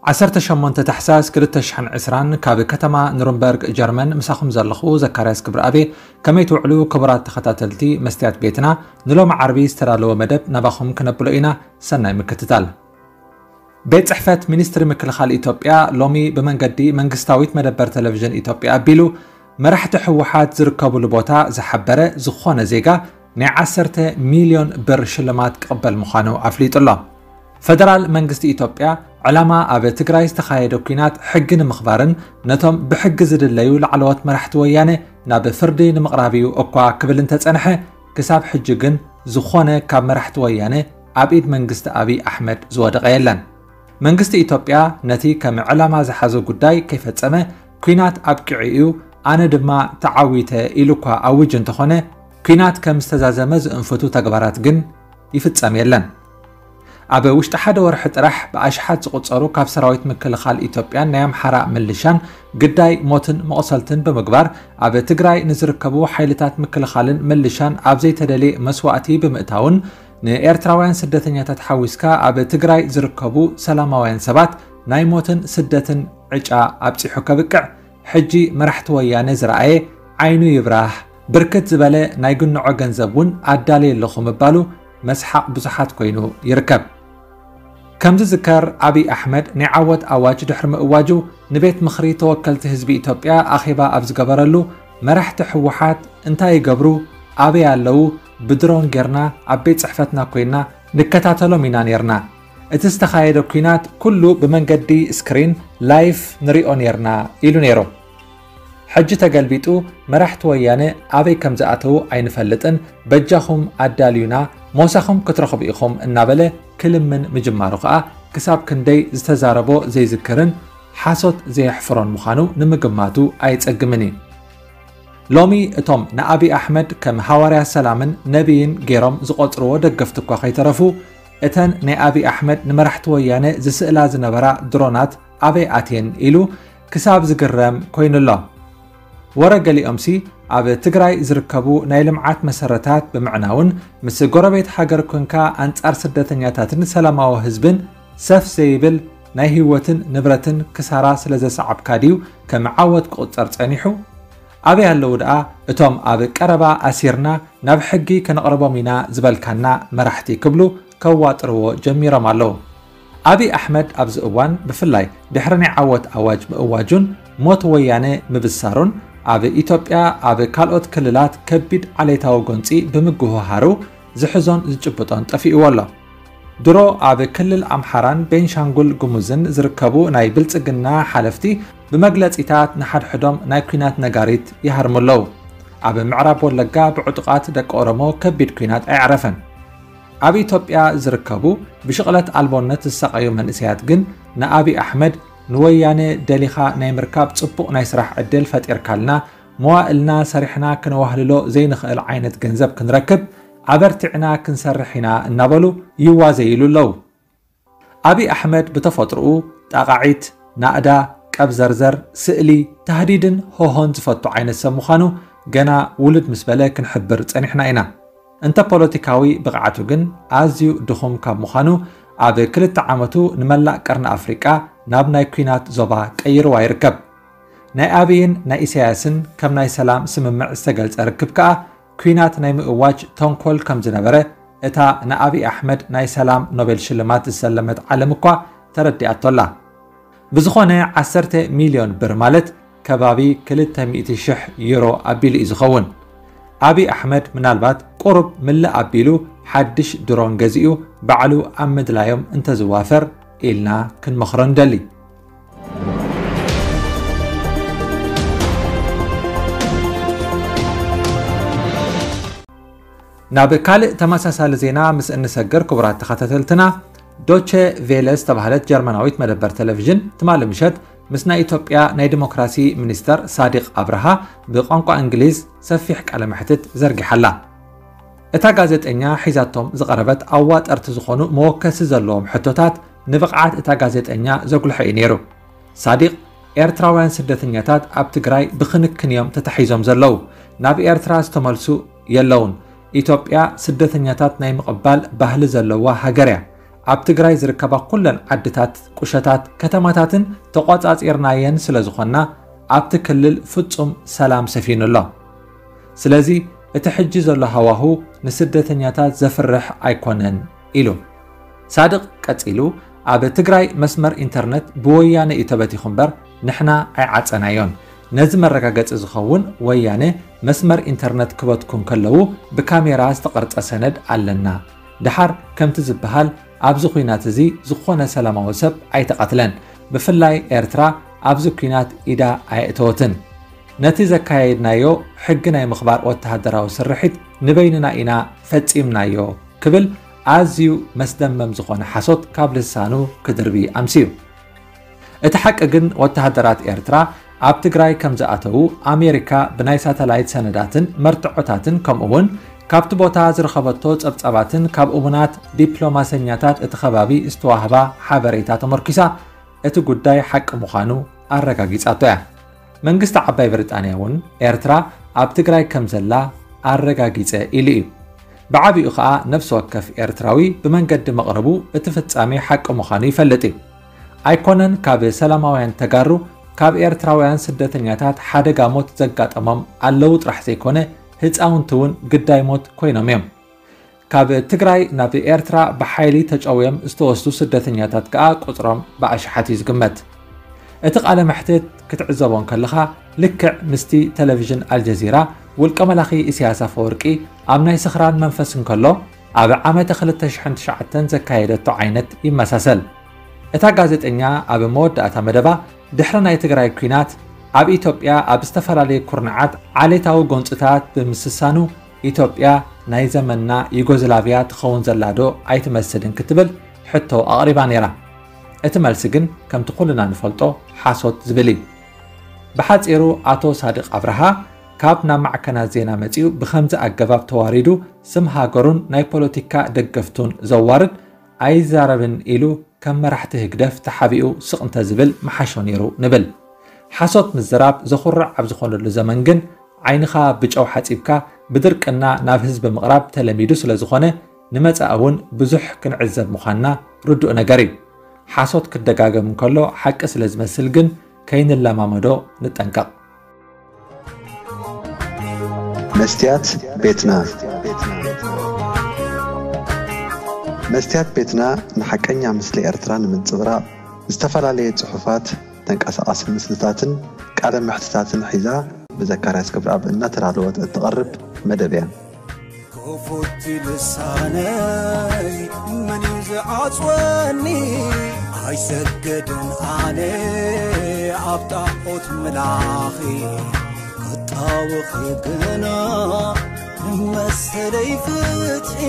ዓሰርተ ሸሞንተ ታሕሳስ ክልተ ሽሕን ዕስራን ካብ ከተማ ኑርንበርግ ጀርመን ምሳኹም ዘለኹ ዘካርያስ ክብረኣቤ። ከመይ ትውዕሉ ክቡራት ተኸታተልቲ መስትያት ቤትና? ንሎሚ ዓርቢ ዝተዳለወ መደብ ናባኹም ክነብሎ ኢና። ሰናይ ምክትታል። ቤት ጽሕፈት ሚኒስትሪ ምክልኻል ኢትዮጵያ ሎሚ ብመንገዲ መንግስታዊት መደበር ቴሌቪዥን ኢትዮጵያ ኣቢሉ መራሕቲ ህወሓት ዝርከብሉ ቦታ ዝሓበረ ዝኾነ ዜጋ ናይ ዓሰርተ ሚልዮን ብር ሽልማት ክቕበል ምዃኑ ኣፍሊጡ ኣሎ። ፈደራል መንግስቲ ኢትዮጵያ ዕላማ ኣብ ትግራይ ዝተኻየደ ኲናት ሕጊ ንምኽባርን ነቶም ብሕጊ ዝድለዩ ላዕለዎት መራሕቲ ወያነ ናብ ፍርዲ ንምቕራብ እዩ እኳ ክብል እንተጸንሐ፣ ክሳብ ሕጂ ግን ዝኾነ ካብ መራሕቲ ወያነ ኣብ ኢድ መንግስቲ ኣብይ ኣሕመድ ዝወደቐ የለን። መንግስቲ ኢትዮጵያ ነቲ ከም ዕላማ ዝሓዞ ጉዳይ ከይፈጸመ፣ ኲናት ኣብቂዑ እዩ፣ ኣነ ድማ ተዓዊተ ኢሉ እኳ ኣውጅ እንተኾነ፣ ኲናት ከም ዝተዛዘመ ዝእንፍቱ ተግባራት ግን ይፍጸም የለን። ኣብ ውሽጢ ሓደ ወርሒ ጥራሕ ብኣሽሓት ዝቑጸሩ ካብ ሰራዊት ምክልኻል ኢትዮጵያን ናይ ኣምሓራ ምልሻን ግዳይ ሞትን መቑሰልትን ብምግባር፣ ኣብ ትግራይ ንዝርከቡ ሓይልታት ምክልኻልን ምልሻን ኣብ ዘይተደልየ መስዋእቲ ብምእታውን፣ ንኤርትራውያን ስደተኛታት ሓዊስካ ኣብ ትግራይ ዝርከቡ ሰላማውያን ሰባት ናይ ሞትን ስደትን ዕጫ ኣብጺሑ ከብቅዕ፣ ሕጂ መራሕቲ ወያነ ዝረኣየ ዓይኑ ይብራህ፣ ብርክት ዝበለ ናይ ግንዖ ገንዘብ እውን ኣዳልየ ኣለኹ ምባሉ መስሓቕ ብዙሓት ኮይኑ ይርከብ። ከም ዝዝከር፣ ኣብይ ኣሕመድ ናይ ዓወት ኣዋጅ ድሕሪ ምእዋጁ፣ ንቤት ምኽሪ ተወከልቲ ህዝቢ ኢትዮጵያ ኣኼባ ኣብ ዝገበረሉ፣ መራሕቲ ህወሓት እንታይ ይገብሩ፣ ኣበይ ኣለዉ፣ ብድሮን ጌርና ኣብ ቤት ጽሕፈትና ኮይና ንከታተሎም ኢና ኔርና። እቲ ዝተኻየደ ኲናት ኩሉ ብመንገዲ ስክሪን ላይፍ ንሪኦ ኔርና ኢሉ ነይሩ። ሕጂ ተገልቢጡ መራሕቲ ወያነ ኣበይ ከም ዝኣተዉ ኣይንፈልጥን፣ በጃኹም ኣዳልዩና፣ ሞሳኹም ክትረኽቡ ኢኹም እናበለ ክልምን ምጅማሩ ከኣ ክሳብ ክንደይ ዝተዛረቦ ዘይዝክርን ሓሶት ዘየሕፍሮን ምዃኑ ንምግማቱ ኣየጸግምን እዩ። ሎሚ እቶም ንኣብይ ኣሕመድ ከም ሃዋርያ ሰላምን ነቢይን ገይሮም ዝቖጽርዎ ደገፍቲ እኳ ከይተረፉ፣ እተን ናይ ኣብይ ኣሕመድ ንመራሕቲ ወያነ ዝስእላ ዝነበራ ድሮናት ኣበይ ኣትየን ኢሉ ክሳብ ዝግረም ኮይኑ ኣሎ። ወረ ገሊኦምሲ ኣብ ትግራይ ዝርከቡ ናይ ልምዓት መሰረታት ብምዕናውን ምስ ጎረቤት ሃገር ኮንካ ኣንጻር ስደተኛታትን ሰላማዊ ህዝብን ሰፍ ዘይብል ናይ ህይወትን ንብረትን ክሳራ ስለ ዘሰዓብካ ድዩ ከም ዓወት ክቑጸር ጸኒሑ? ኣበይ ኣለዉ ደኣ እቶም ኣብ ቀረባ ኣሲርና ናብ ሕጊ ከነቕርቦም ኢና ዝበልካና መራሕቲ ክብሉ ከዋጥርዎ ጀሚሮም ኣለዉ። ኣብይ ኣሕመድ ኣብዚ እዋን ብፍላይ ድሕሪ ናይ ዓወት ኣዋጅ ምእዋጁን ሞት ወያነ ምብሳሩን ኣብ ኢትዮጵያ ኣብ ካልኦት ክልላት ከቢድ ዓሌታዊ ጎንጺ ብምጉህሃሩ ዝሕዞን ዝጭብጦን ጠፊእዎ ኣሎ። ድሮ ኣብ ክልል ኣምሓራን ቤንሻንጉል ጉሙዝን ዝርከቡ ናይ ብልጽግና ሓለፍቲ ብመግለጺታት ንሓድሕዶም ናይ ኲናት ነጋሪት ይሃርሙ ኣለዉ። ኣብ ምዕራብ ወለጋ ብዕጡቓት ደቂ ኦሮሞ ከቢድ ኲናት ኣየዕረፈን። ኣብ ኢትዮጵያ ዝርከቡ ብሽቕለት ኣልቦነት ዝሳቐዩ መንእሰያት ግን ንኣብይ ኣሕመድ ንወያነ ደሊኻ ናይ ምርካብ ጽቡቕ ናይ ስራሕ ዕድል ፈጢርካልና፣ መዋእልና ሰሪሕና ክነዋህልሎ ዘይንኽእል ዓይነት ገንዘብ ክንረክብ ኣበርቲዕና ክንሰርሕ ኢና እናበሉ ይዋዘይሉ ኣለዉ። ኣብይ ኣሕመድ ብተፈጥሮኡ ጣቓዒት፣ ናእዳ፣ ቀብዘርዘር፣ ስእሊ፣ ታህዲድን ሆሆን ዝፈቱ ዓይነት ሰብ ምዃኑ ገና ውልድ ምስ በለ ክንሕብር ጸኒሕና ኢና። እንተ ፖለቲካዊ ብቕዓቱ ግን ኣዝዩ ድኹም ካብ ምዃኑ ኣብ ክልተ ዓመቱ ንመላእ ቀርኒ ኣፍሪቃ ናብ ናይ ኲናት ዞባ ቀይርዋ ይርከብ። ናይ ኣብይን ናይ ኢሳያስን ከም ናይ ሰላም ስምምዕ ዝተገልጸ ርክብ ከኣ ኲናት ናይ ምእዋጅ ተንኮል ከም ዝነበረ እታ ንኣብይ ኣሕመድ ናይ ሰላም ኖቤል ሽልማት ዝሰለመት ዓለም እኳ ተረዲኣቶ ኣላ። ብዝኾነ ዓሰርተ ሚልዮን ብር ማለት ከባቢ ክልተ ሚእቲ ሽሕ ዩሮ ኣቢሉ እዩ ዝኸውን። ኣብይ ኣሕመድ ምናልባት ቁሩብ ምልእ ኣቢሉ ሓድሽ ድሮን ገዚኡ ባዕሉ ኣብ ምድላዮም እንተዝዋፈር ኢልና ክንመኽሮ ንደሊ። ናብ ካልእ ተመሳሳሊ ዜና ምስ እንሰግር፣ ክቡራት ተኸታተልትና፣ ዶቸ ቬለ ዝተባህለት ጀርመናዊት መደበር ቴሌቪዥን ትማሊ ምሸት ምስ ናይ ኢትዮጵያ ናይ ዲሞክራሲ ሚኒስተር ሳዲቕ ኣብርሃ ብቋንቋ እንግሊዝ ሰፊሕ ቃለ መሕትት ዘርጊሓ ኣላ። እታ ጋዜጠኛ ሒዛቶም ዝቐረበት ኣዋጠርቲ ዝኾኑ መወከሲ ዘለዎም ሕቶታት ንብቕዓት እታ ጋዜጠኛ ዘጉልሐ እዩ ነይሩ። ሳዲቕ፣ ኤርትራውያን ስደተኛታት ኣብ ትግራይ ብክንክን እዮም ተታሒዞም ዘለዉ። ናብ ኤርትራ ዝተመልሱ የለውን። ኢትዮጵያ ስደተኛታት ናይ ምቕባል ባህሊ ዘለዋ ሃገር እያ። ኣብ ትግራይ ዝርከባ ኩለን ዓድታት፣ ቁሸታት፣ ከተማታትን ተቋጻጺርናየን ስለ ዝኾንና ኣብቲ ክልል ፍጹም ሰላም ሰፊኑ ኣሎ። ስለዚ እቲ ሕጂ ዘሎ ሃዋሁ ንስደተኛታት ዘፍርሕ ኣይኮነን ኢሉ። ሳድቕ ቀጺሉ፣ ኣብ ትግራይ መስመር ኢንተርነት ብወያነ እዩ ተበቲኹ እምበር ንሕና ኣይዓጸናዮን። ነዚ መረጋገጺ ዝኸውን ወያነ መስመር ኢንተርነት ክበትኩ እንከለዉ ብካሜራ ዝተቐርጸ ሰነድ ኣለና። ደሓር ከምቲ ዝበሃል ኣብዚ ኲናት እዚ ዝኾነ ሰላማዊ ሰብ ኣይተቐትለን። ብፍላይ ኤርትራ ኣብዚ ኲናት ኢዳ ኣየእተወትን። ነቲ ዘካየድናዮ ሕጊ ናይ ምኽባር ወተሃደራዊ ስርሒት ንበይንና ኢና ፈጺምናዮ ክብል ኣዝዩ መስደመም ዝኾነ ሓሶት ካብ ልሳኑ ክድርቢ ኣምስዩ። እቲ ሓቂ ግን ወተሃደራት ኤርትራ ኣብ ትግራይ ከም ዝኣተዉ ኣሜሪካ ብናይ ሳተላይት ሰነዳትን መርትዖታትን ከምኡ እውን ካብቲ ቦታ ዝረኸበቶ ጸብጻባትን ካብ እሙናት ዲፕሎማሰኛታት እቲ ከባቢ ዝተዋህባ ሓበሬታ ተመርኪሳ እቲ ጉዳይ ሓቂ ምዃኑ ኣረጋጊጻቶ እያ። መንግስቲ ዓባይ ብሪጣንያ እውን ኤርትራ ኣብ ትግራይ ከም ዘላ ኣረጋጊጸ ኢሉ እዩ። ብዓቢኡ ኸኣ ነፍሲ ወከፍ ኤርትራዊ ብመንገዲ መቕረቡ እቲ ፍጻሜ ሓቂ ምዃኑ ይፈልጥ እዩ። ኣይኮነን ካብ ሰላማውያን ተጋሩ ካብ ኤርትራውያን ስደተኛታት ሓደጋ ሞት ዘጋጠሞም ኣለዉ ጥራሕ ዘይኮነ ህፃውንቲ እውን ግዳይ ሞት ኮይኖም እዮም። ካብ ትግራይ ናብ ኤርትራ ብሓይሊ ተጨውዮም ዝተወስዱ ስደተኛታት ከኣ ቁፅሮም ብኣሽሓት እዩ ዝግመት። እቲ ቃለ መሕትት ክትዕዘቦ እንከለኻ ልክዕ ምስቲ ቴሌቪዥን ኣልጀዚራ ውልቀ መላኺ ኢሳያስ ኣፈወርቂ ኣብ ናይ ስኽራን መንፈስ እንከሎ ኣብ ዓመተ ክልተ ሽሕን ትሽዓተን ዘካየደቶ ዓይነት ይመሳሰል። እታ ጋዜጠኛ ኣብ መወዳእታ መደባ ድሕሪ ናይ ትግራይ ኲናት ኣብ ኢትዮጵያ ኣብ ዝተፈላለዩ ኩርናዓት ዓሌታዊ ጎንፅታት ብምስሳኑ ኢትዮጵያ ናይ ዘመንና ዩጎዝላቪያ ትኸውን ዘላ ዶ ኣይትመስልን ክትብል ሕቶ ኣቕሪባ ነይራ። እቲ መልሲ ግን ከምቲ ኩልና ንፈልጦ ሓሶት ዝብል እዩ። ብሓጺሩ ኣቶ ሳድቕ ኣብርሃ ካብ ናብ ማዕከናት ዜና መጺኡ ብኸምዚ ኣገባብ ተዋሪዱ ስም ሃገሩን ናይ ፖለቲካ ደገፍቱን ዘዋርድ ኣይዛረብን ኢሉ ከም መራሕቲ ህግደፍ ተሓቢኡ ስቕ እንተዝብል ምሓሾ ነይሩ ንብል። ሓሶት ምዝራብ ዘኹርዕ ኣብ ዝኾነሉ ዘመን ግን ዓይንኻ ብጨው ሓጺብካ ብድርቅና ናብ ህዝቢ ምቕራብ ተለሚዱ ስለ ዝኾነ ንመጻኢ እውን ብዙሕ ክንዕዘብ ምዃንና ርዱእ ነገር እዩ። ሓሶት ክደጋገም እንከሎ ሓቂ ስለ ዝመስል ግን ከይንለማመዶ ንጠንቀቕ። መስትያት ቤትና። መስትያት ቤትና ንሓቀኛ ምስሊ ኤርትራ ንምንጽብራቕ ዝተፈላለየ ጽሑፋት፣ ተንቀሳቓሲ ምስልታትን ቃለ መሕትታትን ሒዛ ብዘካርያስ ገብረኣብ እናተዳለወት እትቐርብ መደብ እያ። ክፉት ልሳነይ መን እዩ ዝዓጽወኒ? ኣይሰግድን ኣነ ኣብ ጣዖት ምላኺ፣ ክጣወኺ ግና ንመሰለይ ፍትሒ።